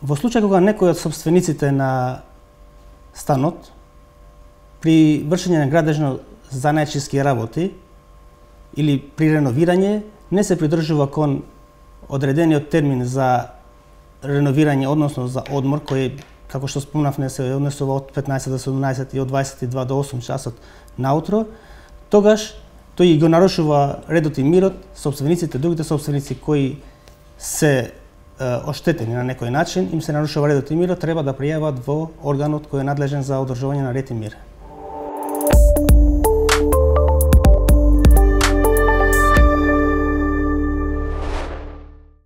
Во случај кога некој од собствениците на станот при вршење на градежно занаечиски работи или при реновирање не се придржува кон одредениот термин за реновирање, односно за одмор, кој, како што спомнавме, се однесува од 15 до 17 и од 22 до 8 часот наутро, тогаш тој го нарушува редот и мирот, собствениците, другите собственици кои се оштетени на некој начин, им се нарушува редот и мирот, треба да пријават во органот кој е надлежен за одржување на ред и мир.